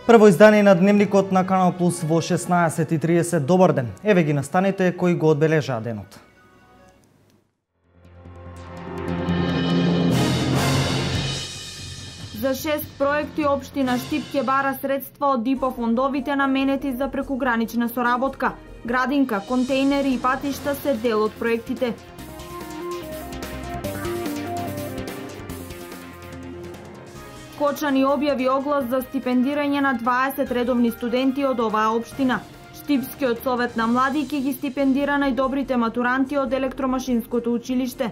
Прво издание на Дневникот на Канал Плюс во 16:30. Добар ден. Еве ги настаните кои го одбележаа денот. За 6 проекти општина Штип ќе бара средства од ИПО фондовите наменети за прекугранична соработка. Градинка, контејнери и патишта се дел од проектите. Кочани објави оглас за стипендирање на 20 редовни студенти од оваа општина. Штипскиот совет на млади ќе ги стипендира најдобрите матуранти од електромашинското училиште.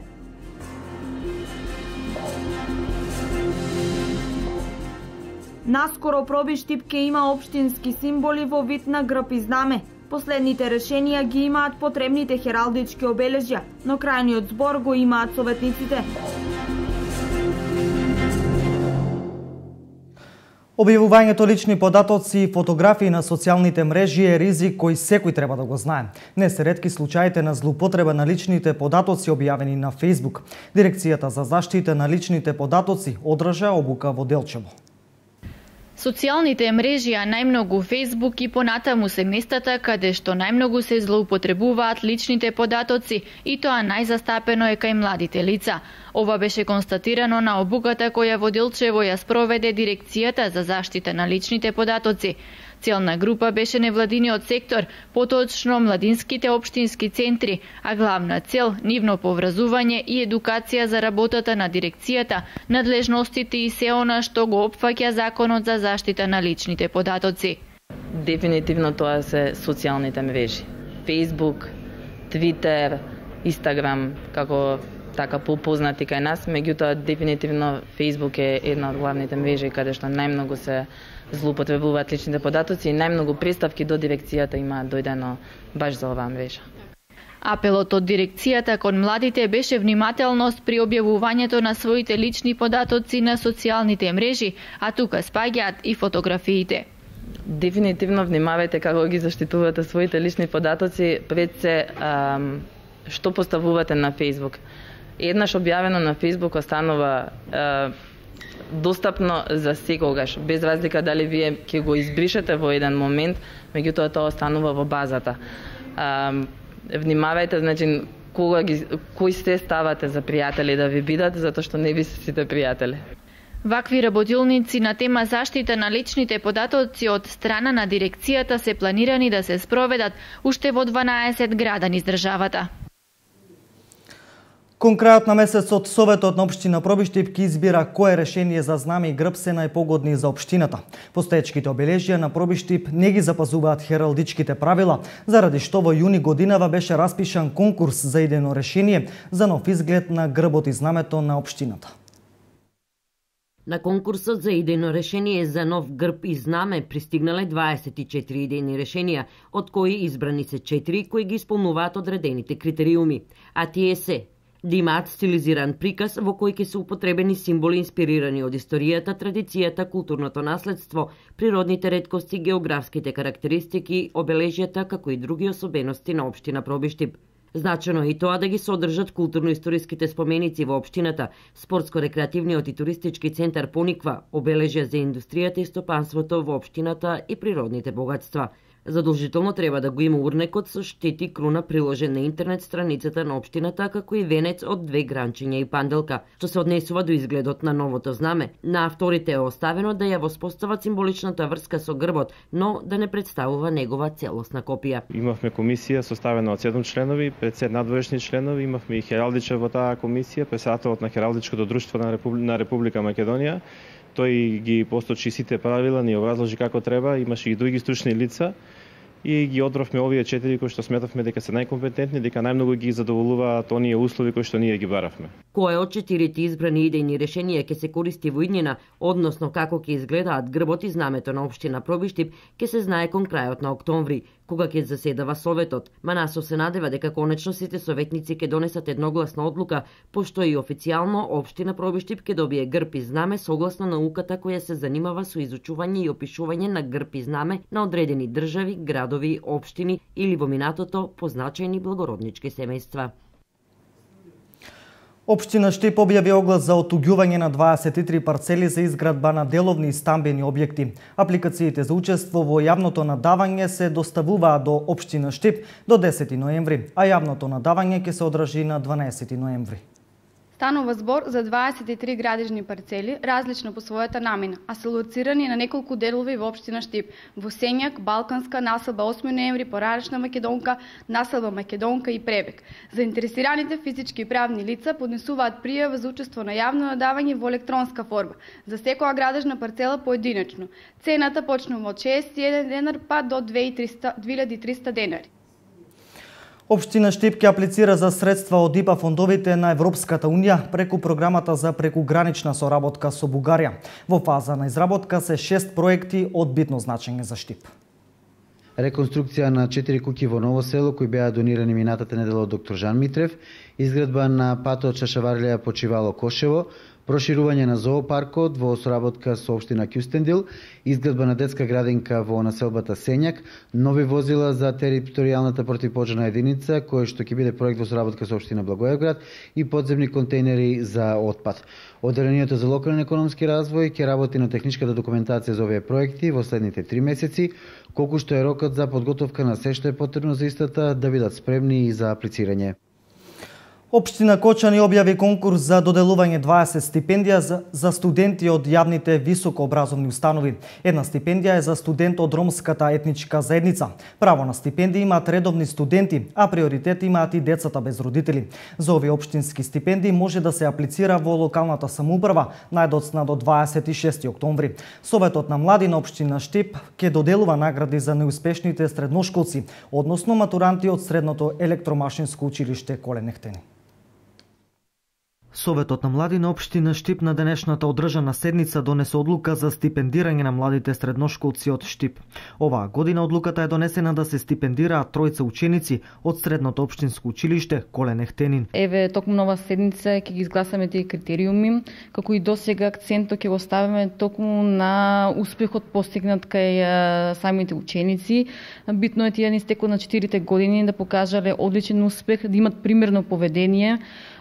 Наскоро Проби Штип ќе има општински символи во вид на грб и знаме. Последните решенија ги имаат потребните хералдички обележја, но крајниот збор го имаат советниците. Објавувањето лични податоци и фотографии на социјалните мрежи е ризик кој секој треба да го знае. Не се ретки случаите на злоупотреба на личните податоци објавени на Facebook. Дирекцијата за заштита на личните податоци одржа обука во Делчево. Социјалните мрежи, а најмногу Facebook и понатаму се местата каде што најмногу се злоупотребуваат личните податоци и тоа најзастапено е кај младите лица. Ова беше констатирано на обуката која во Делчево ја спроведе Дирекцијата за заштита на личните податоци. Целна група беше невладиниот сектор, поточно младинските општински центри, а главна цел нивно повразување и едукација за работата на дирекцијата, надлежностите и се она што го опфаќа Законот за заштита на личните податоци. Дефинитивно тоа се социјалните мрежи. Facebook, Twitter, Instagram, како така попознати кај нас, меѓутоа дефинитивно Facebook е една од главните мрежи каде што најмногу се злоупотребуваат личните податоци и најмногу представки до дирекцијата има дојдено баш за оваа мрежа. Апелот од дирекцијата кон младите беше внимателност при објавувањето на своите лични податоци на социјалните мрежи, а тука спаѓаат и фотографиите. Дефинитивно внимавајте како ги заштитувате своите лични податоци, пред се што поставувате на Facebook. Еднаш објавено на Facebook останува достапно за секогаш, без разлика дали вие ќе го избришете во еден момент, меѓутоа тоа останува во базата. Внимавајте, значи, кои се ставате за пријатели да ви бидат, затоа што не ви се сите пријатели. Вакви работилници на тема заштита на личните податоци од страна на дирекцијата се планирани да се спроведат уште во 12 града низ државата. Кон крајот на месецот, Советот на општина Проби Штип ќе избира кое решение за знаме и грб се најпогодни за општината. Постоечките обележја на Проби Штип не ги запазуваат хералдичките правила, заради што во јуни годинава беше распишан конкурс за идејно решение за нов изглед на грбот и знамето на општината. На конкурсот за идејно решение за нов грб и знаме пристигнале 24 идејни решенија, од кои избрани се 4 кои ги исполнуваат одредените критериуми, а тие се: да имаат стилизиран приказ во кој ќе се употребени символи инспирирани од историјата, традицијата, културното наследство, природните реткости, географските карактеристики, обележјата, како и други особености на општина Проби Штип. Значено е и тоа да ги содржат културно-историските споменици во општината, спортско-рекреативниот и туристички центар Пониква, обележја за индустријата и стопанството во општината и природните богатства. Задолжително треба да го има урнекот со штети круна приложен на интернет страницата на општината, како и венец од 2 гранчиња и панделка. Што се однесува до изгледот на новото знаме, на авторите е оставено да ја воспостават символичната врска со грбот, но да не представува негова целосна копија. Имавме комисија составена од 7 членови, 50 надворешни членови, имавме и хералдичар во таа комисија, председателот на Хералдичкото друштво на Република Македонија. Тој ги посточи сите правила, ни образложи како треба, имаше и други стручни лица и ги одбравме овие 4 кои што сметавме дека се најкомпетентни, дека најмногу ги задоволуваат оние услови кои што ние ги баравме. Кој од 4 избрани идејни решенија ќе се користи во иднина, односно како ќе изгледаат грбот и знамето на општина Проби Штип, ќе се знае кон крајот на октомври, кога ќе заседава Советот. Манасов се надева дека конечно сите советници ќе донесат едногласна одлука, пошто и официјално општина Проби Штип ќе добие грб и знаме согласно науката која се занимава со изучување и опишување на грб и знаме на одредени држави, градови, општини или во минатото позначајни благороднички семејства. Општина Штип објави оглас за отуѓување на 23 парцели за изградба на деловни и стамбени објекти. Апликациите за учество во јавното надавање се доставуваат до Општина Штип до 10 ноември, а јавното надавање ќе се одржи на 12 ноември. Станува збор за 23 градежни парцели, различно по својата намина, а се лоцирани на неколку делови во Општина Штип, во Сењак, Балканска, населба 8 ноември, Поранешна Македонка, населба Македонка и Пребек. Заинтересираните физички и правни лица поднесуваат пријава за учество на јавно надавање во електронска форма, за секоја градежна парцела поединечно. Цената почнува од 61 денар па до 2300 денари. Општина Штип ќе аплицира за средства од ИПА фондовите на Европската Унија преку програмата за прекугранична соработка со Бугарија. Во фаза на изработка се 6 проекти од битно значење за Штип. Реконструкција на 4 куќи во Ново село кои беа донирани минатата недела од доктор Жан Митрев, изградба на патот Шашаварлија Почивало Кошево, проширување на зоопаркот во соработка со општина Кюстендил, изградба на детска градинка во населбата Сењак, нови возила за територијалната противпожарна единица, кој што ќе биде проект во соработка со општина Благоевград и подземни контейнери за отпад. Одделението за локален економски развој ќе работи на техничката документација за овие проекти во следните 3 месеци, колку што е рокот за подготовка на се што е потребно за истата да бидат спремни и за аплицирање. Општина Кочани објави конкурс за доделување 20 стипендија за студенти од јавните високообразовни установи. Една стипендија е за студент од ромската етничка заедница. Право на стипендија имаат редовни студенти, а приоритет имаат и децата без родители. За овие општински стипендии може да се аплицира во локалната самоуправа најдоцна до 26 октомври. Советот на млади на општина Штип ќе доделува награди за неуспешните средношколци, односно матуранти од средното електромашинско училиште Колен Ехтени. Советот на млади на општина Штип на денешната одржана седница донесе одлука за стипендирање на младите средношколци од Штип. Оваа година одлуката е донесена да се стипендираат тројца ученици од средното општинско училиште Колен Ехтенин. Еве, токму нова седница ќе ги изгласаме тие критериуми, како и досега акцентот ќе го ставиме токму на успехот постигнат кај самите ученици. Битно е тие низ на 4 години да покажале одличен успех, да имат примерно поведение.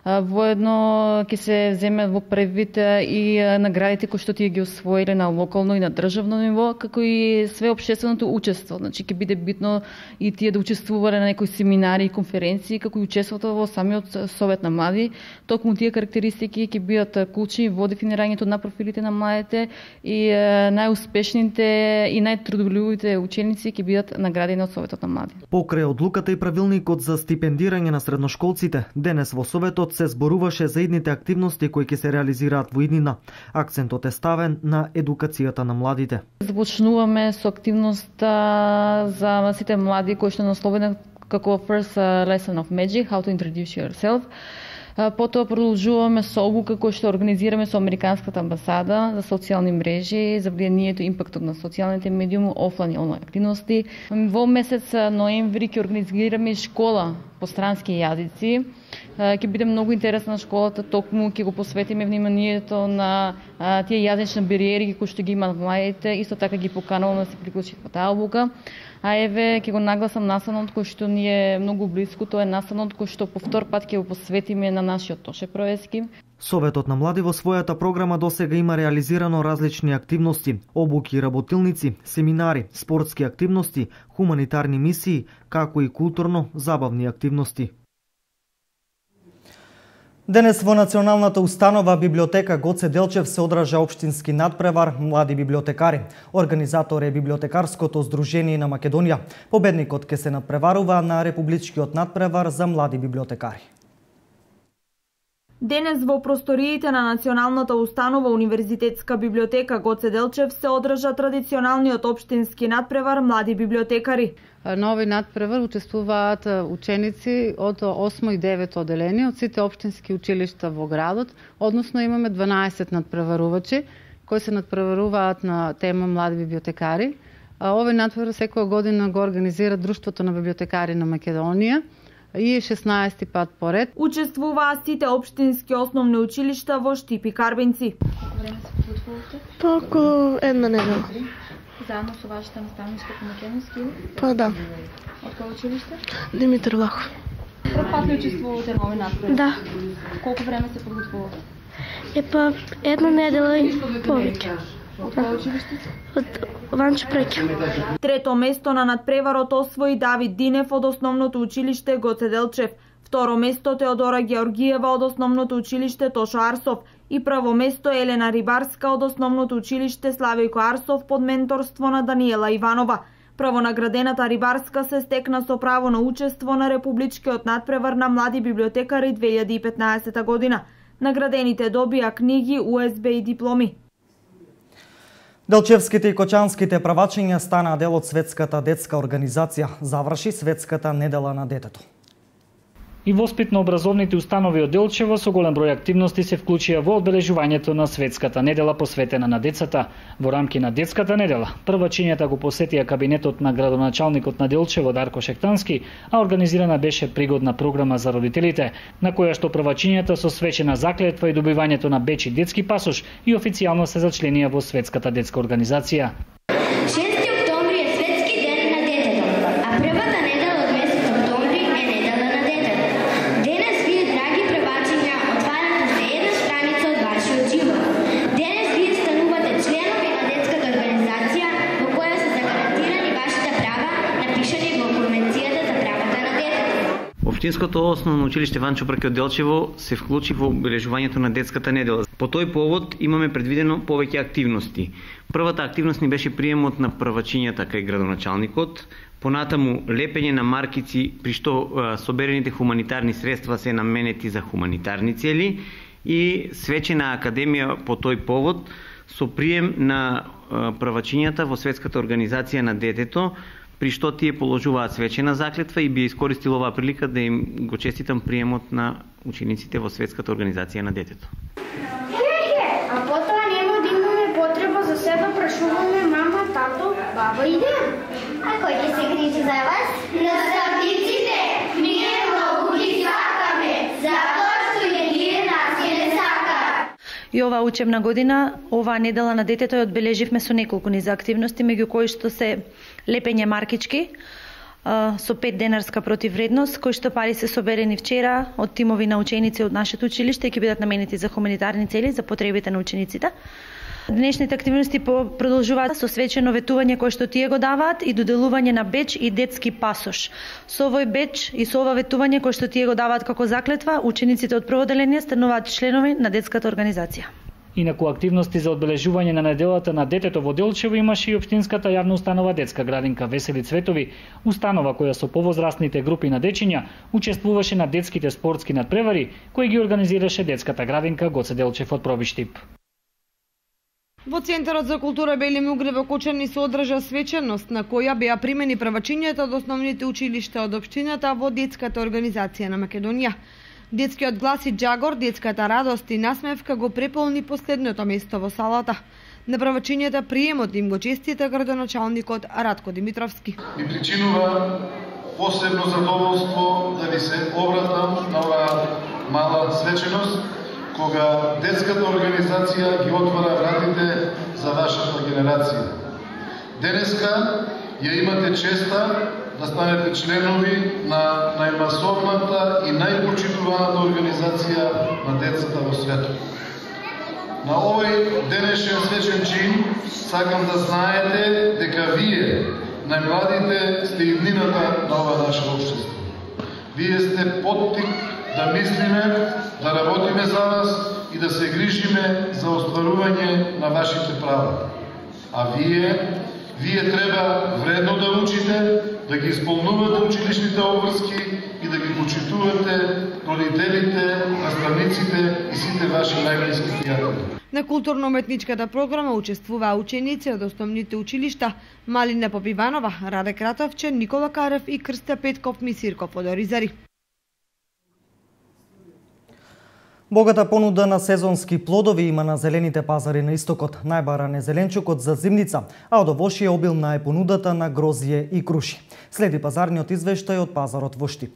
Воедно ќе се земе во предвид и наградите кои што тие ги освоиле на локално и на државно ниво, како и све општественото учество. Значи ќе биде битно и тие да учествувале на некои семинари и конференции, како и учеството во самиот Совет на млади. Токму тие карактеристики ќе бидат клучни во дефинирањето на профилите на младите и најуспешните и најтрудолюбивите ученици ќе бидат наградени од Советот на млади. Покрај одлуката и правилникот за стипендирање на средношколците, денес во Советот се зборуваше за идните активности кои ќе се реализираат во иднина. Акцентот е ставен на едукацијата на младите. Започнуваме со активноста за сите млади кои што насловена како First Lesson of Magic, How to Introduce Yourself. Потоа продолжуваме со обука која што организираме со Американската амбасада за социјални мрежи, за влијанието и импактот на социјалните медиуми, офлайн и онлайн активности. Во месец ноември ќе организираме школа по странски јазици. Ќе биде многу интересна школата, токму ќе го посветиме вниманието на тие јазични бариери кои што ги имаат младите, исто така ги покануваме да се приклучат во таа обука. А еве ќе го нагласам настанот кој што ни е многу блиску, тоа е настанот кој што по втор пат ќе го посветиме на нашиот Тоше Проески. Советот на млади во својата програма досега има реализирано различни активности, обуки, работилници, семинари, спортски активности, хуманитарни мисии, како и културно-забавни активности. Денес во Националната установа библиотека Гоце Делчев се одржа општински надпревар млади библиотекари. Организатор е Библиотекарското здружение на Македонија. Победникот ќе се надпреварува на републичкиот надпревар за млади библиотекари. Денес во просториите на Националната установа Универзитетска библиотека Гоце Делчев се одржа традиционалниот општински надпревар млади библиотекари. На овој надпревар учествуваат ученици од 8 и 9 одделение од сите општински училишта во градот, односно имаме 12 надпреварувачи кои се надпреваруваат на тема млади библиотекари. Овој надпревар секоја година го организира Друштвото на библиотекари на Македонија и 16 пат поред. Учествуваат сите општински основни училишта во Штип и Карбенци. Колку време се подготвувате? По околу една недела. Заедно со вашата наставничка по македонски? Па да. Од кој училиште? Димитар Влахов. прв пат ли учествувате на овој настрој? Да. Колку време се подготвувате? Епа една недела и повеќе. Од кој училиште? Од Ванчо Преќа. Трето место на надпреварот освои Давид Динев од основното училиште Гоце Делчев. Второ место Теодора Георгиева од основното училиште Тошо Арсов и прво место Елена Рибарска од основното училиште Славико Арсов под менторство на Даниела Иванова. Правонаградената Рибарска се стекна со право на учество на републичкиот надпревар на млади библиотекари 2015 година. Наградените добија книги, USB и дипломи. Делчевските и кочанските правачиња станаа дел од Светската детска организација. Заврши Светската недела на детето. И воспитно-образовните установи од Делчево со голем број активности се вклучија во одбележувањето на Светската недела посветена на децата. Во рамки на Детската недела, првачињата го посетија кабинетот на градоначалникот на Делчево Дарко Шектански, а организирана беше пригодна програма за родителите, на која што првачињата со свечена заклетва и добивањето на беч и детски пасош и официјално се зачленија во Светската детска организација. 6 октомври е Светски ден на детето, а првата недела од месец октомври е недела на детето. Денес вие, драги превачиња, отварате уште една страница од вашиот живот. Денес вие станувате членови на детската организација во која се загарантирани вашите права, напишани во Конвенцијата за правата на детето. Општинското основно училиште Ванчо Преќа од Делчево се вклучи во обележувањето на Детската недела. По тој повод имаме предвидено повеќе активности. Првата активност ни беше приемот на првачињата кај градоначалникот, понатаму лепење на маркици при што соберените хуманитарни средства се наменети за хуманитарни цели и свечена академија по тој повод со прием на првачињата во Светската организација на детето, при што тие положуваат свечена заклетва и би искористил оваа прилика да им го честитам приемот на учениците во Светската организација на детето. А потоа нема да имаме потреба за себе прашуваме мама, тато, баба и дед. А кој ќе се грижи за вас? Наставниците! Ние многу ги сакаме, затоа што и ние нас ќе не сакаат. И оваа учебна година, оваа недела на детето ја одбележивме со неколку низа активности, меѓу кои што се лепење маркички со 5 денарска противвредност, кои што пари се соберени вчера од тимови на ученици од нашето училиште и ќе бидат наменети за хуманитарни цели, за потребите на учениците. Днешните активности продолжуваат со свечено ветување кое што тие го даваат и доделување на беч и детски пасош. Со овој беч и со ова ветување кое што тие го даваат како заклетва, учениците од прво одделение стануваат членови на детската организација. Инаку активности за одбележување на неделата на детето во Делчево имаше и општинската јавна установа Детска градинка Весели Цветови, установа која со повозрастните групи на дечиња учествуваше на детските спортски надпревари кои ги организираше Детската градинка Гоце Делчев од Пробиштип. Во Центарот за култура Бели Мугре во Кочани се одржа свеченост на која беа примени првачињата од основните училишта од општината во Детската организација на Македонија. Детскиот глас и джагор, детската радост и насмевка го преполни последното место во салата. На првачињата приемот им го честита градоначалникот Радко Димитровски. Ми причинува посебно задоволство да ви се обратам на оваа мала свеченост, кога детската организација ги отвара вратите за вашата генерација. Денеска ја имате честа да станете членови на најмасовната и најпочитуваната организација на децата во светот. На овој денешен свечен чин сакам да знаете дека вие, најмладите, сте иднината на ова наше општество. Вие сте поттик да мислиме, да работиме за вас и да се грижиме за остварување на вашите права. А вие треба вредно да учите, да ги исполнувате училишните обврски и да ги почитувате родителите, наставниците и сите ваши најблиски пријатели. На културно-уметничката програма учествуваа ученици од основните училишта Малина Попиванова, Раде Кратовче, Никола Карев и Крстја Петков Мисирков од Оризари. Богата понуда на сезонски плодови има на зелените пазари на истокот. Најбаран е зеленчукот за зимница, а од овошје обилна е понудата на грозје и круши. Следи пазарниот извештај од пазарот во Штип.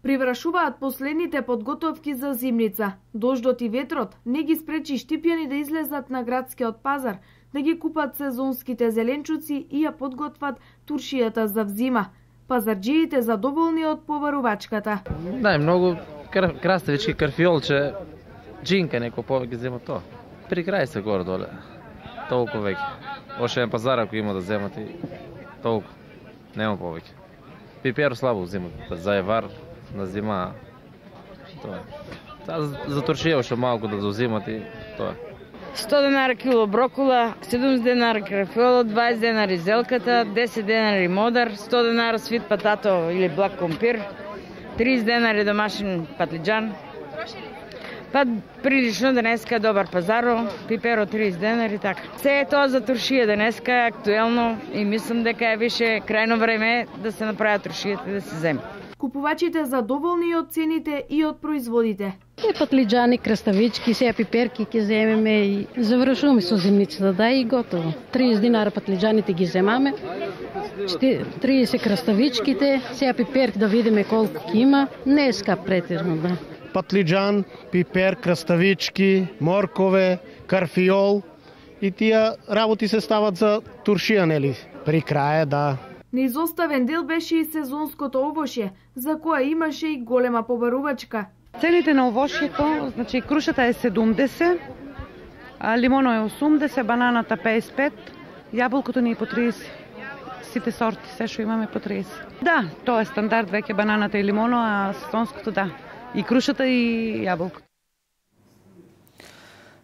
Приврашуваат последните подготовки за зимница. Дождот и ветрот не ги спречи штипјани да излезат на градскиот пазар, да ги купат сезонските зеленчуци и ја подготват туршијата за взима. Пазарджиите задоволни од побарувачката. Да, многу краставички, карфиолче, джинка неко повеќе зема тоа. При крај се горе доле. Толку веќе. Още еден пазар ако има да земат и толку. Нема повеќе. Пипер слабо земат. За евар на зима. Тоа е. За туршија уште малку да заузимат и тоа е. 100 денари кило брокула, 70 денари крафиола, 20 денари зелката, 10 денари модар, 100 денари свит патато или блак компир, 30 денари домашен патлиџан. Па прилично денеска добар пазаро, пиперо 30 денари, така. Се е тоа за туршија денеска е актуелно и мислам дека е више крајно време да се направат туршијата и да се земе. Купувачите задоволни од цените и од производите. Патлиџани, краставички, сега пиперки ќе земеме и завршуваме со зимницата, да и готово. 30 динара патлиџаните ги земаме, 30 краставичките, сега пиперки да видиме колку ќе има, не е скап претерно, да. Патлиџан, пипер, краставички, моркове, карфиол и тие работи се стават за туршија, нели? При крај, да. Неизоставен дел беше и сезонското овошје, за кое имаше и голема побарувачка. Цените на овошјето, значи крушата е 70, лимоно е 80, бананата 55, јаболкото ни е по 30. Сите сорти, се што имаме по 30. Да, тоа е стандард веќе бананата и лимоно, а сезонското да. И крушата и јаболкото.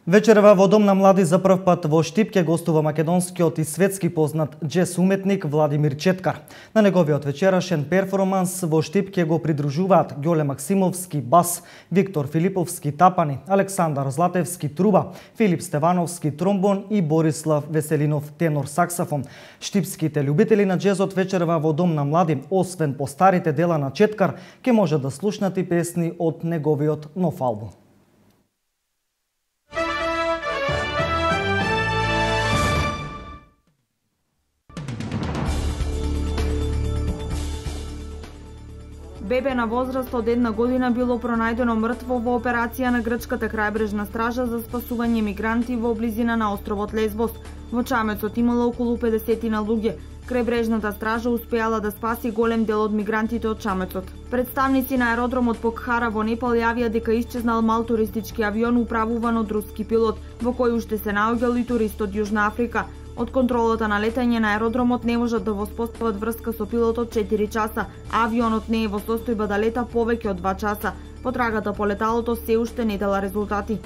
Вечерва во Дом на млади за прв пат во Штип ќе гостува македонскиот и светски познат джез уметник Владимир Четкар. На неговиот вечерашен перформанс во Штип ќе го придружуваат Ѓоле Максимовски бас, Виктор Филиповски тапани, Александар Златевски труба, Филип Стевановски тромбон и Борислав Веселинов тенор саксафон. Штипските љубители на джезот вечерва во Дом на млади, освен по старите дела на Четкар, ќе може да слушнат и песни од неговиот нов албум. Бебе на возраст од 1 година било пронајдено мртво во операција на грчката крајбрежна стража за спасување мигранти во близина на островот Лесбос. Во чамецот имало околу 50 луѓе. Крајбрежната стража успеала да спаси голем дел од мигрантите од чамецот. Представници на аеродромот Покхара во Непал јавија дека исчезнал мал туристички авион управуван од руски пилот, во кој уште се наоѓал и турист од Јужна Африка. Од контролата на летање на аеродромот не можат да воспостават врска со пилотот 4 часа, а авионот не е во состојба да лета повеќе од 2 часа. Потрагата по леталото се уште не дала резултати.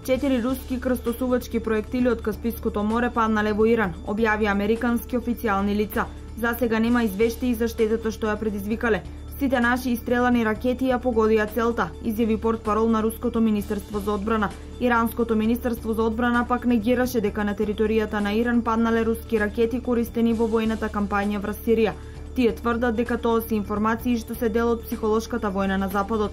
4 руски крстосувачки проектили од Каспиското море паднале во Иран, објави американски официјални лица. За сега нема извештаи за штетата што ја предизвикале. Сите наши истрелани ракети ја погодија целта, изјави портпарол на Руското министерство за одбрана. Иранското министерство за одбрана пак негираше дека на територијата на Иран паднале руски ракети користени во војната кампања врз Сирија. Тие тврдат дека тоа се информации што се дел од психолошката војна на Западот.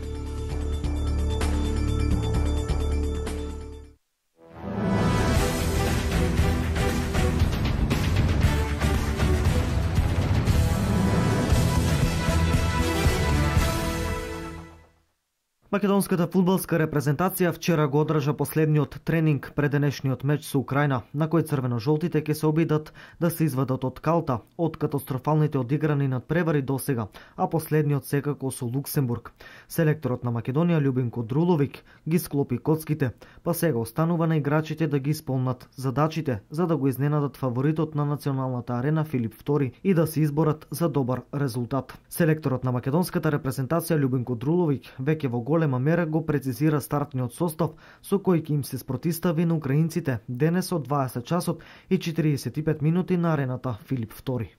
Македонската фудбалска репрезентација вчера го одржа последниот тренинг пред денешниот меч со Украина, на кој црвено-жолтите ќе се обидат да се извадат од калта од катастрофалните одиграни надпревари досега, а последниот секако со Луксембург. Селекторот на Македонија Љубинко Друловик ги склопи коцките, па сега останува на играчите да ги исполнат задачите за да го изненадат фаворитот на националната арена Филип II и да се изборат за добар резултат. Селекторот на македонската репрезентација Љубинко Друловик веќе во голема мера го прецизира стартниот состав со кој ќе им се спротистави на украинците денес од 20 часот и 45 минути на арената Филип II.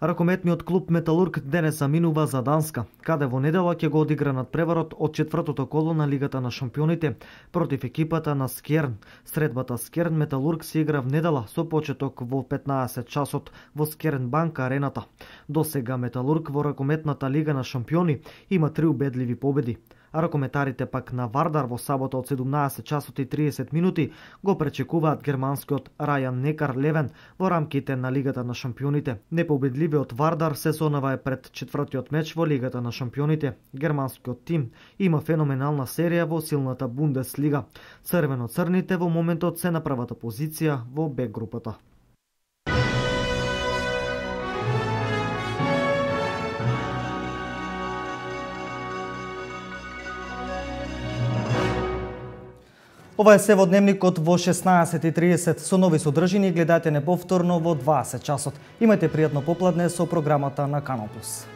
Ракометниот клуб Металург денес заминува за Данска, каде во недела ќе го одигра надпреварот од четвртото коло на Лигата на шампионите против екипата на Скерн. Средбата Скерн Металург се игра в недела со почеток во 15 часот во Скерн банка арената. Досега Металург во ракометната Лига на шампиони има 3 убедливи победи. А ракометарите пак на Вардар во сабота од 17 часот и 30 минути го пречекуваат германскиот Рајан Некар Левен во рамките на Лигата на шампионите. Непобедливиот Вардар сезонава е пред четвртиот меч во Лигата на шампионите. Германскиот тим има феноменална серија во силната Бундеслига. Црвено-црните во моментот се на првата позиција во Б групата. Ова е се во дневникот во 16:30 со нови содржини. Гледате неповторно во 20 часот. Имајте пријатно попладне со програмата на Канал Плюс.